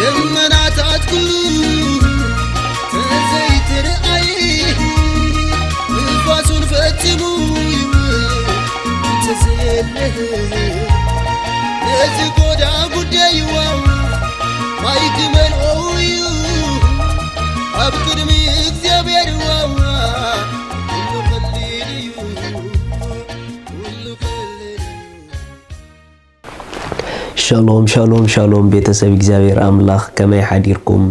ደመናታት ኩሉ ተዘይትርኣይ፣ ንፋሱን ፈጺሙ ይውል ተዘየለ። ነዚ ጎዳ ጉዳይ ዋዋ ማይ ክመልኦ እዩ ኣብ ቅድሚ እግዚኣብሔር ዋዋ። ኩሉ ቀሊል እዩ፣ ኩሉ ቀሊል እዩ። ሻሎም ሻሎም ሻሎም ቤተሰብ እግዚኣብሔር ኣምላኽ፣ ከመይ ሓዲርኩም?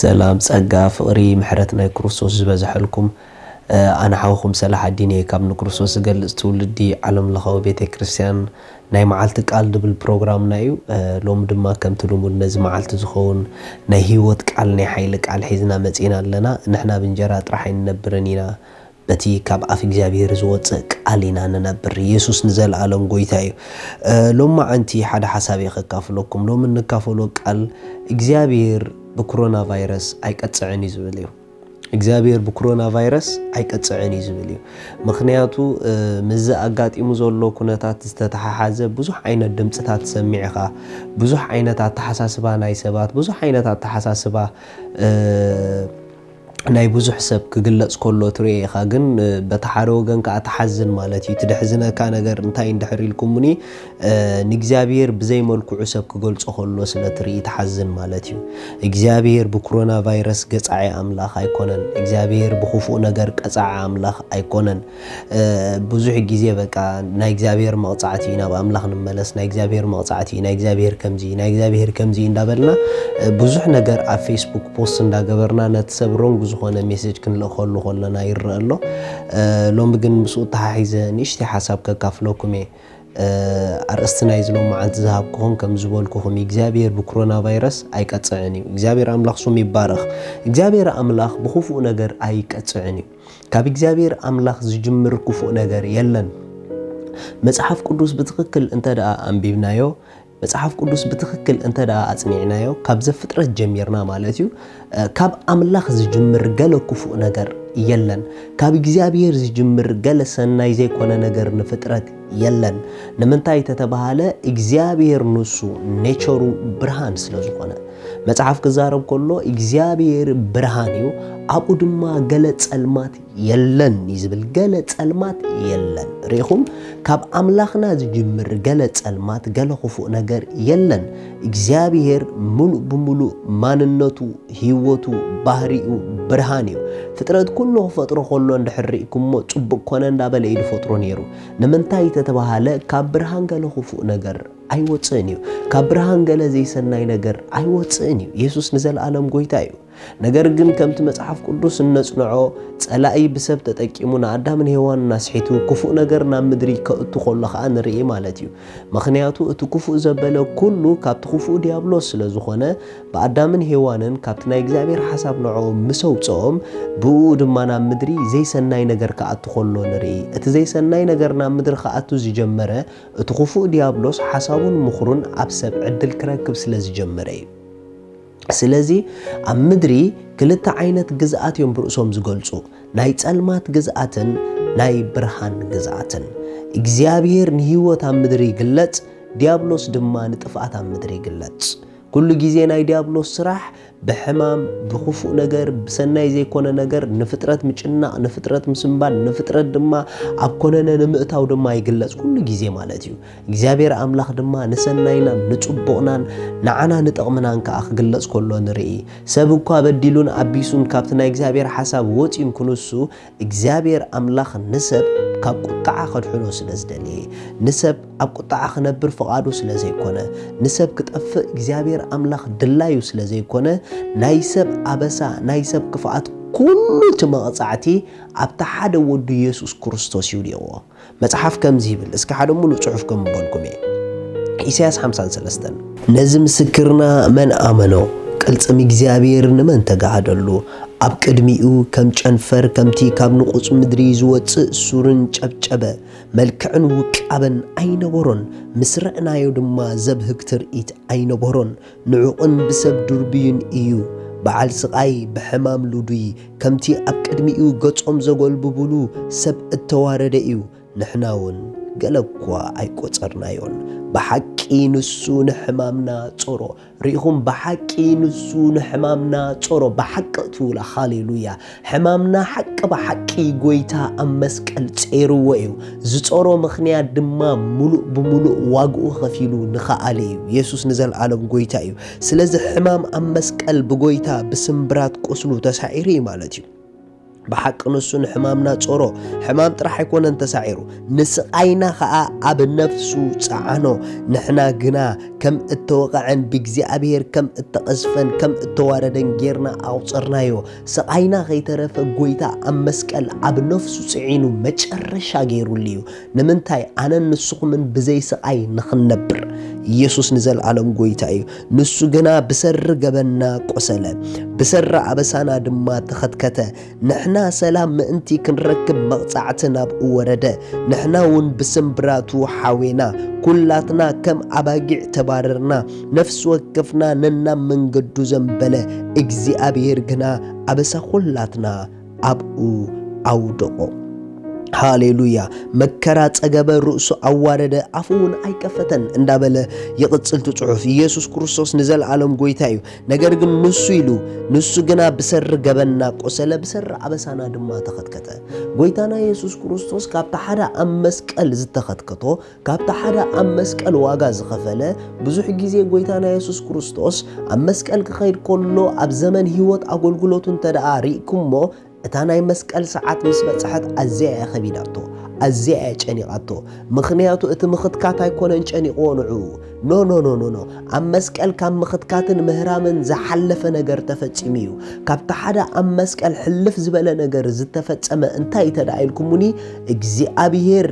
ሰላም፣ ጸጋ፣ ፍቕሪ፣ ምሕረት ናይ ክርስቶስ ዝበዝሐልኩም። ኣነ ሓውኹም ሰላሓዲን እየ ካብ ንክርስቶስ ዝገልጽ ትውልዲ ዓለም ለኻዊ ቤተ ክርስቲያን። ናይ መዓልቲ ቃል ድብል ፕሮግራምና እዩ። ሎሚ ድማ ከምቲ ልሙድ ነዚ መዓልቲ ዝኸውን ናይ ህይወት ቃል፣ ናይ ሓይሊ ቃል ሒዝና መጺና ኣለና። ንሕና ብእንጀራ ጥራሕ ኣይንነብርን ኢና፣ በቲ ካብ ኣፍ እግዚኣብሔር ዝወፅእ ቃል ኢና ንነብር። ኢየሱስ ንዘለኣለም ጎይታ እዩ። ሎማዓንቲ ሓደ ሓሳብ እየ ከካፍለኩም። ሎሚ እንካፈሎ ቃል፣ እግዚኣብሔር ብኮሮና ቫይረስ ኣይቀፅዕን እዩ ዝብል እዩ። እግዚኣብሔር ብኮሮና ቫይረስ ኣይቀፅዕን እዩ ዝብል እዩ። ምክንያቱ ምስዚ ኣጋጢሙ ዘሎ ኩነታት ዝተተሓሓዘ ብዙሕ ዓይነት ድምፅታት ትሰምዕ ኢኻ። ብዙሕ ዓይነት ኣተሓሳስባ ናይ ሰባት፣ ብዙሕ ዓይነት ኣተሓሳስባ ናይ ብዙሕ ሰብ ክግለጽ ከሎ ትርኢ ኢኻ። ግን በቲ ሓደ ወገን ከኣ ትሓዝን ማለት እዩ። እቲ ደሕዝነካ ነገር እንታይ እንድሕር ኢልኩምኒ፣ ንእግዚኣብሔር ብዘይ መልክዑ ሰብ ክገልጾ ከሎ ስለ ትርኢ ትሓዝን ማለት እዩ። እግዚኣብሔር ብኮሮና ቫይረስ ገጻዒ ኣምላኽ ኣይኮነን። እግዚኣብሔር ብኽፉእ ነገር ቀጻዒ ኣምላኽ ኣይኮነን። ብዙሕ ግዜ በቃ ናይ እግዚኣብሔር መቕጻዕቲ እዩ፣ ናብ ኣምላኽ ንመለስ፣ ናይ እግዚኣብሔር መቕጻዕቲ እዩ፣ ናይ እግዚኣብሔር ከምዚ እዩ፣ ናይ እግዚኣብሔር ከምዚ እዩ እንዳበልና ብዙሕ ነገር ኣብ ፌስቡክ ፖስት እንዳገበርና ነቲ ሰብ ሮንግ ዝኾነ ሜሴጅ ክንልእኸሉ ከለና ይረአ ኣሎ። ሎሚ ግን ምስኡ ተሓሒዘ ንእሽተይ ሓሳብ ከካፍለኩም እየ። ኣርእስቲ ናይዚ ሎማዓንቲ ዝሃብኩኹም ከም ዝበልኩኹም እግዚኣብሔር ብኮሮና ቫይረስ ኣይቀጽዕን እዩ። እግዚኣብሔር ኣምላኽ ስሙ ይባረኽ። እግዚኣብሔር ኣምላኽ ብኽፉእ ነገር ኣይቀጽዕን እዩ። ካብ እግዚኣብሔር ኣምላኽ ዝጅምር ክፉእ ነገር የለን። መጽሓፍ ቅዱስ ብትኽክል እንተ ደኣ ኣንቢብናዮ፣ መጽሓፍ ቅዱስ ብትኽክል እንተ ደኣ ኣጽኒዕናዮ፣ ካብ ዘፍጥረት ጀሚርና ማለት እዩ፣ ካብ ኣምላኽ ዝጅምር ገለ ክፉእ ነገር የለን። ካብ እግዚኣብሔር ዝጅምር ገለ ሰናይ ዘይኮነ ነገር ንፍጥረት የለን። ንምንታይ ተተባሃለ እግዚኣብሔር ንሱ ኔቸሩ ብርሃን ስለ ዝኾነ። መጽሓፍ ክዛረብ ከሎ እግዚኣብሔር ብርሃን እዩ፣ ኣብኡ ድማ ገለ ጸልማት የለን እዩ ዝብል። ገለ ጸልማት የለን። ርኢኹም፣ ካብ ኣምላኽና ዝጅምር ገለ ጸልማት፣ ገለ ክፉእ ነገር የለን። እግዚኣብሔር ምሉእ ብምሉእ ማንነቱ፣ ህይወቱ፣ ባህሪኡ ብርሃን እዩ። ፍጥረት ኩሉ ክፈጥሮ ከሎ እንድሕር ርኢኩሞ ጽቡቕ ኮነ እንዳበለ እዩ ዝፈጥሮ ነይሩ። ንምንታይ ተተባሃለ ካብ ብርሃን ገለ ክፉእ ነገር ኣይወፅእን እዩ። ካብ ብርሃን ገለ ዘይሰናይ ነገር ኣይወፅእን እዩ። የሱስ ንዘለኣለም ጎይታ እዩ። ነገር ግን ከምቲ መጽሓፍ ቅዱስ እነጽንዖ ጸላኢ ብሰብ ተጠቂሙ ንኣዳምን ሄዋንን ኣስሒቱ ክፉእ ነገር ናብ ምድሪ ከእቱ ከሎ ኸኣ ንርኢ ማለት እዩ። ምኽንያቱ እቲ ክፉእ ዘበለ ኩሉ ካብቲ ክፉእ ዲያብሎስ ስለ ዝኾነ ብኣዳምን ሄዋንን ካብቲ ናይ እግዚኣብሔር ሓሳብ ንዕኦም ምስ ኣውፅኦም ብኡ ድማ ናብ ምድሪ ዘይሰናይ ነገር ክኣቱ ከሎ ንርኢ። እቲ ዘይሰናይ ነገር ናብ ምድሪ ክኣቱ ዝጀመረ እቲ ክፉእ ዲያብሎስ ሓሳቡን ምኽሩን ኣብ ሰብ ዕድል ክረክብ ስለ ዝጀመረ እዩ። ስለዚ ኣብ ምድሪ ክልተ ዓይነት ግዝኣት እዮም ብርእሶም ዝገልጹ፣ ናይ ጸልማት ግዝኣትን ናይ ብርሃን ግዝኣትን። እግዚኣብሔር ንህይወት ኣብ ምድሪ ይግለጽ፣ ዲያብሎስ ድማ ንጥፍኣት ኣብ ምድሪ ይግለጽ። ኩሉ ግዜ ናይ ዲያብሎስ ስራሕ ብሕማም፣ ብኽፉእ ነገር፣ ብሰናይ ዘይኮነ ነገር ንፍጥረት ምጭናቕ፣ ንፍጥረት ምስንባድ፣ ንፍጥረት ድማ ኣብ ኮነነ ንምእታው ድማ ይግለጽ ኩሉ ግዜ ማለት እዩ። እግዚኣብሔር ኣምላኽ ድማ ንሰናይናን ንጽቡቕናን ንዓና ንጠቕምናን ከኣ ክግለጽ ከሎ ንርኢ። ሰብ እኳ በዲሉን ኣቢሱን ካብቲ ናይ እግዚኣብሔር ሓሳብ ወጺኡን ክንሱ እግዚኣብሔር ኣምላኽ ንሰብ ካብ ቁጥዓ ከድሕኖ ስለ ዝደለየ፣ ንሰብ ኣብ ቁጥዓ ክነብር ፍቓዱ ስለ ዘይኮነ፣ ንሰብ ክጠፍእ እግዚኣብሔር ኣምላኽ ድላዩ ስለ ዘይኮነ፣ ናይ ሰብ ኣበሳ፣ ናይ ሰብ ክፍኣት ኩሉ እቲ መቕጻዕቲ ኣብቲ ሓደ ወዱ የሱስ ክርስቶስ ይውድቕዎ። መጽሓፍ ከምዚ ይብል፣ እስኪ ሓደ ሙሉእ ጽሑፍ ከንብበልኩም እየ። ኢሳያስ ሓምሳን ሰለስተን፣ ነዚ ምስክርና መን ኣመኖ? ቅልጽም እግዚኣብሔር ንመን ተጋህደሉ? ኣብ ቅድሚኡ ከም ጨንፈር፣ ከምቲ ካብ ንቑጽ ምድሪ ዝወጽእ ሱርን ጨብጨበ። መልክዕን ውቃበን ኣይነበሮን፣ ምስ ረእናዮ ድማ ዘብህግ ትርኢት ኣይነበሮን። ንዑቕን ብሰብ ድርብዩን እዩ። በዓል ስቓይ፣ ብሕማም ልዱይ፣ ከምቲ ኣብ ቅድሚኡ ገጾም ዘጎልብብሉ ሰብ እተዋረደ እዩ። ንሕና እውን ገለ እኳ ኣይቆጸርናዮን። ብሓቂ ንሱ ንሕማምና ጾሮ። ርኢኹም፣ ብሓቂ ንሱ ንሕማምና ጾሮ። ብሓቂ ትብላ፣ ሃሌሉያ። ሕማምና ሓቂ ብሓቂ ጎይታ ኣብ መስቀል ጸይርዎ እዩ። ዝጾሮ ምኽንያት ድማ ምሉእ ብምሉእ ዋግኡ ከፊሉ ንኸኣለ እዩ። የሱስ ንዘለኣለም ጎይታ እዩ። ስለዚ ሕማም ኣብ መስቀል ብጎይታ ብስምብራት ቁስሉ ተሳዒሩ እዩ ማለት እዩ። ብሓቂ ንሱ ንሕማምና ጾሮ። ሕማም ጥራሕ ኣይኮነን ተሳዒሩ፣ ንስቓይና ኸኣ ኣብ ነፍሱ ጸዓኖ። ንሕና ግና ከም እተወቕዐን ብእግዚኣብሔር ከም እተቐዝፈን ከም እተዋረደን ጌርና ኣቑጸርናዮ። ስቓይና ከይተረፈ ጎይታ ኣብ መስቀል ኣብ ነፍሱ ጽዒኑ መጨረሻ ገይሩሉ እዩ። ንምንታይ? ኣነን ንስኹምን ብዘይ ስቓይ ንኽንነብር። ኢየሱስ ንዘለኣለም ጎይታ እዩ። ንሱ ግና ብሰሪ ገበንና ቆሰለ፣ ብሰሪ ኣበሳና ድማ ተኸትከተ። ንሕና ሰላም ምእንቲ ክንረክብ መቕጻዕቲ ናብኡ ወረደ። ንሕና እውን ብስምብራቱ ሓዌና። ኩላትና ከም ኣባጊዕ ተባረርና። ነፍሲ ወከፍና ነናብ መንገዱ ዘንበለ። እግዚኣብሔር ግና ኣበሳ ኩላትና ኣብኡ ኣውደቖ። ሃሌሉያ። መከራ ጸገበ፣ ርእሱ ኣዋረደ፣ ኣፉ እውን ኣይከፈተን እንዳበለ ይቕጽል እቲ ጽሑፍ። ኢየሱስ ክርስቶስ ንዘለኣለም ጎይታ እዩ። ነገር ግን ንሱ ኢሉ፣ ንሱ ግና ብሰሪ ገበንና ቆሰለ፣ ብሰሪ ኣበሳና ድማ ተኸትከተ። ጎይታና ኢየሱስ ክርስቶስ ካብቲ ሓደ ኣብ መስቀል ዝተኸትከቶ፣ ካብቲ ሓደ ኣብ መስቀል ዋጋ ዝኸፈለ፣ ብዙሕ ግዜ ጎይታና ኢየሱስ ክርስቶስ ኣብ መስቀል ክኸይድ ከሎ፣ ኣብ ዘመን ህይወት ኣገልግሎቱ እንተ ደኣ ርኢኩሞ፣ እታ ናይ መስቀል ሰዓት ምስ በጽሐት ኣዝያ እያ ከቢዳቶ፣ ኣዝያ እያ ጨኒቓቶ። ምኽንያቱ እቲ ምኽትካት ኣይኮነን ጨኒቕዎ ንዕኡ። ኖ፣ ኖ፣ ኖ፣ ኖ፣ ኖ። ኣብ መስቀል ካብ ምኽትካትን ምህራምን ዝሓለፈ ነገር ተፈጺሙ እዩ። ካብቲ ሓደ ኣብ መስቀል ሕልፍ ዝበለ ነገር ዝተፈጸመ እንታይ እዩ ተደኣ ኢልኩሙኒ፣ እግዚኣብሔር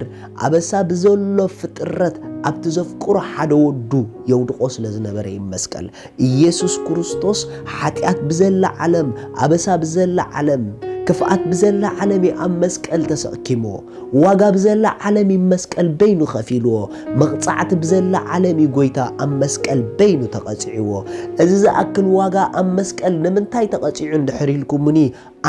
ኣበሳ ብዘሎ ፍጥረት ኣብቲ ዘፍቅሮ ሓደ ወዱ የውድቖ ስለ ዝነበረ እዩ መስቀል። ኢየሱስ ክርስቶስ ሓጢኣት ብዘላ ዓለም፣ ኣበሳ ብዘላ ዓለም፣ ክፍኣት ብዘላ ዓለም እዩ ኣብ መስቀል ተሰኪምዎ። ዋጋ ብዘላ ዓለም እዩ መስቀል በይኑ ከፊልዎ። መቕጻዕቲ ብዘላ ዓለም እዩ ጎይታ ኣብ መስቀል በይኑ ተቐጺዕዎ። እዚ ዝኣክል ዋጋ ኣብ መስቀል ንምንታይ ተቐጺዑ እንድሕር ኢልኩምኒ፣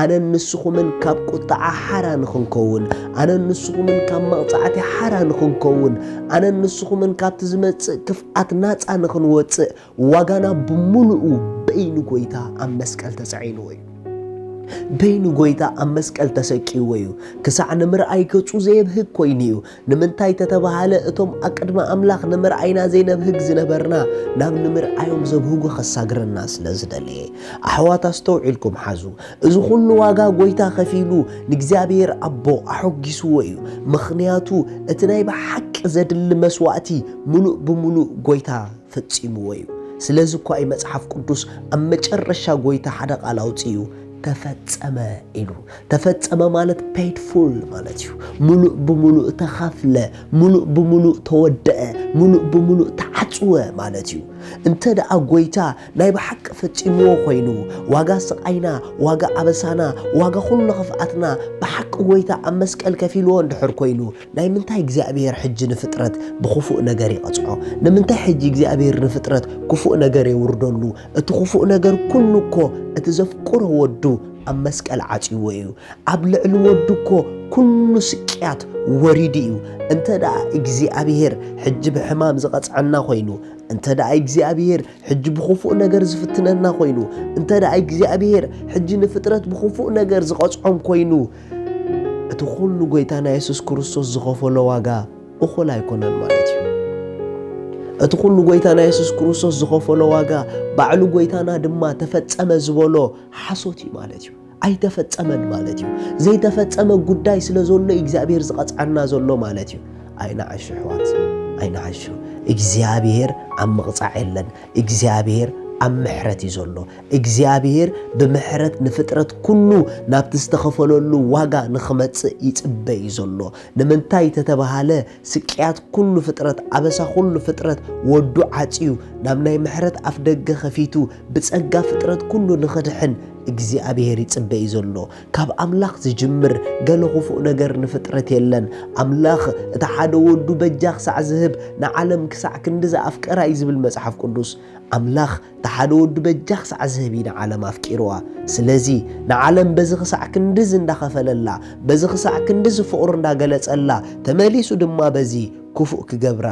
ኣነን ንስኹምን ካብ ቁጥዓ ሓራ ንኽንከውን፣ ኣነን ንስኹምን ካብ መቕጻዕቲ ሓራ ንኽንከውን፣ ኣነን ንስኹምን ካብቲ ዝመጽእ ክፍኣት ናጻ ንኽንወጽእ ዋጋና ብምሉኡ በይኑ ጎይታ ኣብ መስቀል ተጻዒንዎ እዩ። በይኑ ጎይታ ኣብ መስቀል ተሰቂዎ እዩ። ክሳዕ ንምርኣይ ገጹ ዘየብህግ ኮይኑ እዩ። ንምንታይ ተተባሃለ፣ እቶም ኣቅድሚ ኣምላኽ ንምርኣይና ዘይነብህግ ዝነበርና፣ ናብ ንምርኣዮም ዘብህጉ ከሳግረና ስለ ዝደለየ። ኣሕዋት ኣስተውዒልኩም ሓዙ። እዚ ኩሉ ዋጋ ጎይታ ከፊሉ ንእግዚኣብሔር ኣቦ ኣሐጒስዎ እዩ። ምኽንያቱ እቲ ናይ ብሓቂ ዘድሊ መስዋእቲ ምሉእ ብምሉእ ጎይታ ፈጺምዎ እዩ። ስለዚ እኳ እዩ መጽሓፍ ቅዱስ ኣብ መጨረሻ ጎይታ ሓደ ቃል ኣውጺኡ፣ "ተፈጸመ" ኢሉ። ተፈጸመ ማለት paid full ማለት እዩ። ምሉእ ብምሉእ ተኸፍለ፣ ምሉእ ብምሉእ ተወደአ፣ ምሉእ ብምሉእ ተዓጽወ ማለት እዩ። እንተ ደኣ ጎይታ ናይ ብሓቂ ፈጺምዎ ኮይኑ፣ ዋጋ ስቓይና፣ ዋጋ ኣበሳና፣ ዋጋ ኩሉ ክፍኣትና ብሓቂ ጎይታ ኣብ መስቀል ከፊልዎ እንድሕር ኮይኑ፣ ናይ ምንታይ እግዚኣብሔር ሕጂ ንፍጥረት ብኽፉእ ነገር ይቐጽዖ? ንምንታይ ሕጂ እግዚኣብሔር ንፍጥረት ክፉእ ነገር የውርደሉ? እቲ ክፉእ ነገር ኩሉ እኮ እቲ ዘፍቅሮ ወዱ ኣብ መስቀል ዓጽይዎ እዩ። ኣብ ልዕሊ ወዱ እኮ ኩሉ ስቅያት ወሪዱ እዩ። እንተ ደኣ እግዚኣብሔር ሕጂ ብሕማም ዝቐጽዐና ኮይኑ፣ እንተ ደኣ እግዚኣብሔር ሕጂ ብኽፉእ ነገር ዝፍትነና ኮይኑ፣ እንተ ደኣ እግዚኣብሔር ሕጂ ንፍጥረት ብኽፉእ ነገር ዝቐጽዖም ኮይኑ፣ እቲ ኩሉ ጎይታና የሱስ ክርስቶስ ዝኸፈሎ ዋጋ እኹል ኣይኮነን ማለት እዩ። እቲ ኩሉ ጎይታና የሱስ ክርስቶስ ዝኸፈሎ ዋጋ፣ ባዕሉ ጎይታና ድማ ተፈጸመ ዝበሎ ሓሶት እዩ ማለት እዩ። ኣይተፈጸመን ማለት እዩ። ዘይተፈጸመ ጉዳይ ስለ ዘሎ እዩ እግዚኣብሔር ዝቐጽዓና ዘሎ ማለት እዩ። ኣይንዓሹ ኣሕዋት፣ ኣይንዓሹ። እግዚኣብሔር ኣብ ምቕጻዕ የለን። እግዚኣብሔር ኣብ ምሕረት እዩ ዘሎ። እግዚኣብሔር ብምሕረት ንፍጥረት ኩሉ ናብቲ ዝተኸፈለሉ ዋጋ ንኽመጽእ ይጽበ እዩ ዘሎ። ንምንታይ ተተባሃለ፣ ስቅያት ኩሉ ፍጥረት፣ ኣበሳ ኩሉ ፍጥረት ወዱ ዓጽዩ፣ ናብ ናይ ምሕረት ኣፍ ደገ ከፊቱ፣ ብጸጋ ፍጥረት ኩሉ ንኽድሕን እግዚኣብሔር ይጽበ እዩ ዘሎ። ካብ ኣምላኽ ዝጅምር ገለ ክፉእ ነገር ንፍጥረት የለን። ኣምላኽ እቲ ሓደ ወዱ በጃ ክሳዕ ዝህብ ንዓለም ክሳዕ ክንዲ ዝኣፍቀራ እዩ ዝብል መጽሓፍ ቅዱስ። ኣምላኽ እቲ ሓደ ወዱ በጃ ክሳዕ ዝህብ እዩ ንዓለም ኣፍቂርዋ። ስለዚ ንዓለም በዚ ክሳዕ ክንድዚ እንዳኸፈለላ፣ በዚ ክሳዕ ክንድዚ ፍቕሩ እንዳገለጸላ፣ ተመሊሱ ድማ በዚ ክፉእ ክገብራ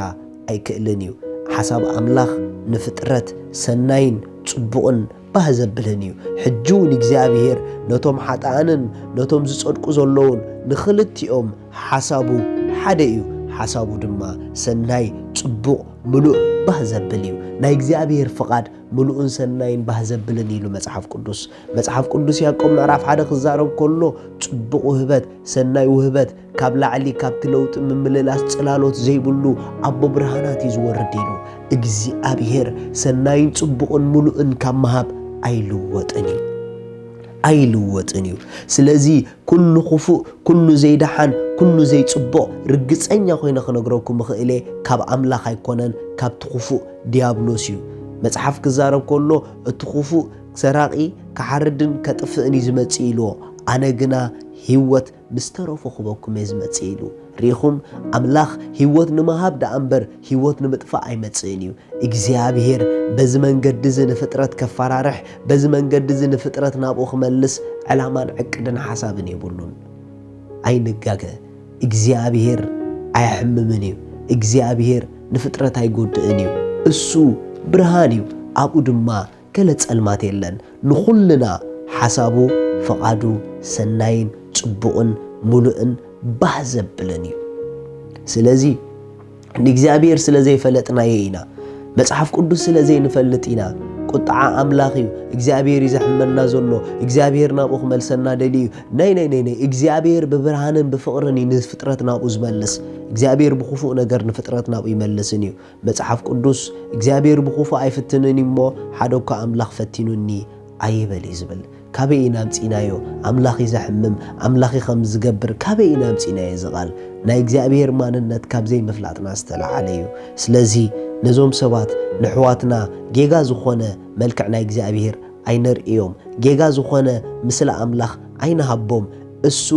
ኣይክእልን እዩ። ሓሳብ ኣምላኽ ንፍጥረት ሰናይን ጽቡቕን ባህ ዘብልን እዩ። ሕጂ እውን እግዚኣብሔር ነቶም ሓጥኣንን ነቶም ዝጸድቁ ዘለውን ንኽልቲኦም ሓሳቡ ሓደ እዩ። ሓሳቡ ድማ ሰናይ፣ ጽቡቕ፣ ምሉእ፣ ባህ ዘብል እዩ። ናይ እግዚኣብሔር ፍቓድ ምሉእን ሰናይን ባህ ዘብልን ኢሉ መጽሓፍ ቅዱስ። መጽሓፍ ቅዱስ ያዕቆብ ምዕራፍ ሓደ ክዛረብ ከሎ ጽቡቕ ውህበት፣ ሰናይ ውህበት፣ ካብ ላዕሊ ካብቲ ለውጢ ምምልላስ ጽላሎት ዘይብሉ ኣቦ ብርሃናት እዩ ዝወርድ ኢሉ። እግዚኣብሔር ሰናይን ጽቡቕን ምሉእን ካብ ምሃብ ኣይልወጥን እዩ። ኣይልወጥን እዩ። ስለዚ ኩሉ ክፉእ፣ ኩሉ ዘይደሓን፣ ኩሉ ዘይጽቡቕ ርግጸኛ ኮይነ ክነግረኩም እኽእል እየ፣ ካብ ኣምላኽ ኣይኮነን፣ ካብቲ ክፉእ ዲያብሎስ እዩ። መጽሓፍ ክዛረብ ከሎ እቲ ክፉእ ሰራቒ ክሓርድን ከጥፍእን እዩ ዝመጽእ ኢልዎ። ኣነ ግና ህይወት ምስ ተረፎ ክበኩም እየ ዝመጽእ ኢሉ። ርኢኹም፣ ኣምላኽ ህይወት ንምሃብ ደኣ እምበር ህይወት ንምጥፋእ ኣይመጽእን እዩ። እግዚኣብሔር በዚ መንገዲ እዚ ንፍጥረት ከፈራርሕ፣ በዚ መንገዲ እዚ ንፍጥረት ናብኡ ክመልስ ዕላማን ዕቅድን ሓሳብን የብሉን። ኣይንጋገ፣ እግዚኣብሔር ኣየሕምምን እዩ። እግዚኣብሔር ንፍጥረት ኣይጎድእን እዩ። እሱ ብርሃን እዩ፣ ኣብኡ ድማ ገለ ጸልማት የለን። ንኹልና ሓሳቡ፣ ፍቓዱ ሰናይን ጽቡቕን ምሉእን ባህ ዘብልን እዩ። ስለዚ ንእግዚኣብሔር ስለ ዘይፈለጥናዮ ኢና። መጽሓፍ ቅዱስ ስለ ዘይንፈልጥ ኢና። ቁጥዓ ኣምላኽ እዩ። እግዚኣብሔር እዩ ዘሕመና ዘሎ። እግዚኣብሔር ናብኡ ክመልሰና ደልዩ እዩ። ናይ ናይ ናይ ናይ እግዚኣብሔር ብብርሃንን ብፍቕርን እዩ ንፍጥረት ናብኡ ዝመልስ። እግዚኣብሔር ብክፉእ ነገር ንፍጥረት ናብኡ ይመልስን እዩ። መጽሓፍ ቅዱስ እግዚኣብሔር ብክፉእ ኣይፍትንን እዩ እሞ ሓደ እኳ ኣምላኽ ፈቲኑኒ ኣይበል እዩ ዝብል። ካበይ ኢና ኣምጺእናዮ? ኣምላኽ እዩ ዘሕምም፣ ኣምላኽ እዩ ከም ዝገብር ካበይ ኢና ኣምጺእናዮ? እዚ ቃል ናይ እግዚኣብሔር ማንነት ካብ ዘይምፍላጥና ዝተለዓለ እዩ። ስለዚ ነዞም ሰባት ንሕዋትና ጌጋ ዝኾነ መልክዕ ናይ እግዚኣብሔር ኣይነርእዮም። ጌጋ ዝኾነ ምስለ ኣምላኽ ኣይንሃቦም። እሱ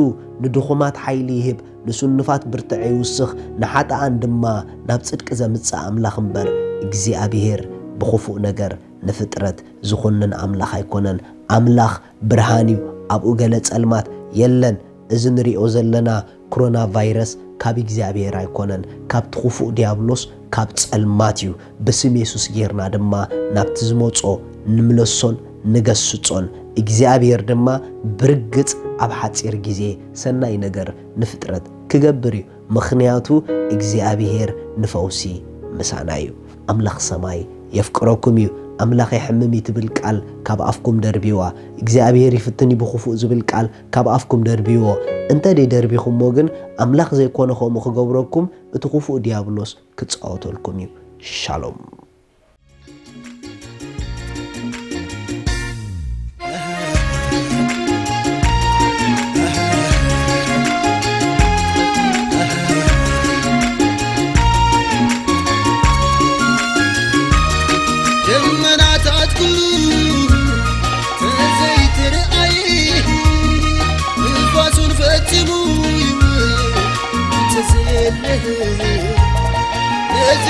ንድኹማት ሓይሊ ይህብ፣ ንስኑፋት ብርትዕ ይውስኽ፣ ንሓጥኣን ድማ ናብ ጽድቂ ዘምጽእ ኣምላኽ እምበር እግዚኣብሔር ብኽፉእ ነገር ንፍጥረት ዝኹንን ኣምላኽ ኣይኮነን። ኣምላኽ ብርሃን እዩ፣ ኣብኡ ገለ ጸልማት የለን። እዚ ንሪኦ ዘለና ኮሮና ቫይረስ ካብ እግዚኣብሔር ኣይኮነን፣ ካብቲ ክፉእ ዲያብሎስ ካብ ጸልማት እዩ። ብስም የሱስ ጌርና ድማ ናብቲ ዝመጾ ንምለሶን ንገስጾን። እግዚኣብሔር ድማ ብርግጽ ኣብ ሓጺር ግዜ ሰናይ ነገር ንፍጥረት ክገብር እዩ። ምኽንያቱ እግዚኣብሔር ንፈውሲ ምሳና እዩ። ኣምላኽ ሰማይ የፍቅረኩም እዩ። ኣምላኽ የሕምም እዩ ትብል ቃል ካብ ኣፍኩም ደርብይዋ። እግዚኣብሔር ይፍትን እዩ ብኽፉእ ዝብል ቃል ካብ ኣፍኩም ደርብይዎ። እንተ ደርቢኹሞ ግን ኣምላኽ ዘይኮነ ከምኡ ክገብረኩም እቲ ክፉእ ዲያብሎስ ክጻወተልኩም እዩ። ሻሎም። ደመናታት ኩሉ ተዘይትርኣይ፣ ንፋሱን ፈጺሙ ይውል ተዘየለ። ነዚ